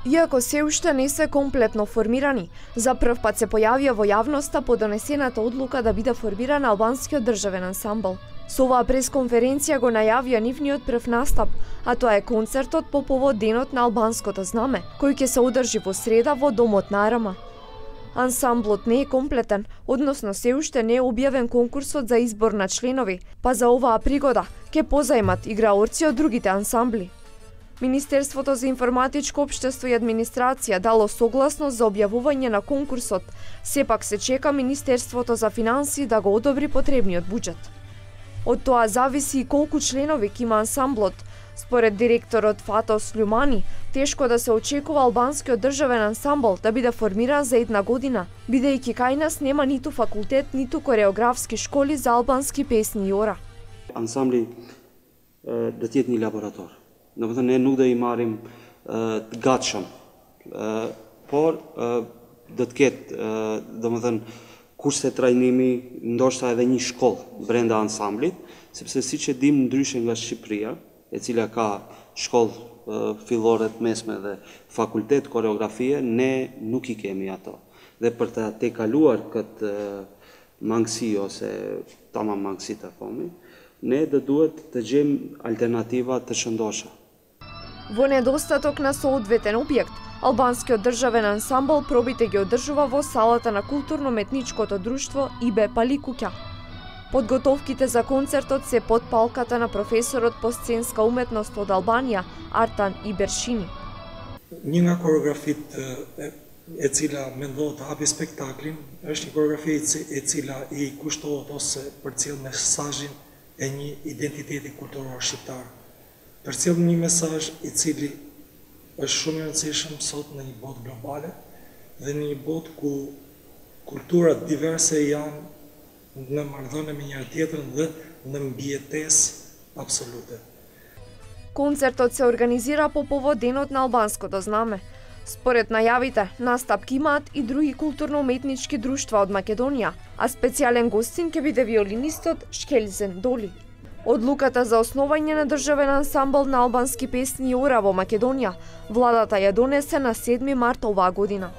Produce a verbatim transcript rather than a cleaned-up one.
Иако се уште не се комплетно формирани, за прв пат се појавија во јавноста по донесената одлука да биде формиран албанскиот државен ансамбл. Со оваа пресконференција го најавија нивниот прв настап, а тоа е концертот по повод Денот на албанското знаме, кој ќе се одржи во среда во Домот на Арама. Ансамблот не е комплетен, односно се уште не е објавен конкурсот за избор на членови, па за оваа пригода ќе позајмат играорци од другите ансамбли. Министерството за информатичко општество и администрација дало согласност за објавување на конкурсот, сепак се чека Министерството за финансии да го одобри потребниот буџет. Од тоа зависи и колку членови ќе има ансамблот. Според директорот Фатос Люмани, тешко да се очекува албанскиот државен ансамбл да биде формиран за една година, бидејќи кај нас нема ниту факултет, ниту кореографски школи за албански песни и ора. Ансамбли да тјет ни лаборатор. Domethënë ne nuk do i marrim të gatshëm, por do të ketë domethënë kurse trajnimi, ndoshta edhe një shkollë brenda ansamblit, sepse siç e dim ndryshe nga Shqipëria, e cila ka shkollë fillore të mesme dhe fakultet koreografie, ne nuk i kemi ato. Dhe për të tejkaluar këtë mangësi ose tamam mangësi të thomi, ne do duhet të gjejmë alternativa të shëndosha. Во недостаток на соодветен објект, албанскиот државен ансамбл пробите ги одржува во салата на културно-метничкото друштво Ибе Паликуќа. Подготовките за концертот се под палката на професорот по сценска уметност од Албанија, Артан Ибершини. Një nga koreografit e cila mendohet të hapi spektaklin, është një koreografi e cila i kushtohet ose përcjell mesazhin e një identiteti kulturor shqiptar. Përcjell një mesazh i cili është shumë i rëndësishëm sot në një botë globale dhe në një botë ku kulturat diverse janë në marrëdhënie me njëra tjetrën dhe në mbijetesë absolute. Концертот се организира по повод Денот на албанското знаме. Според најавите, настап ќе имаат и други културно-уметнички друштва од Македонија, а специјален гостин ќе биде виолинистот Шкелзен Доли. Одлуката за основање на државен ансамбл на албански песни и ора во Македонија, владата ја донесе на седми март оваа година.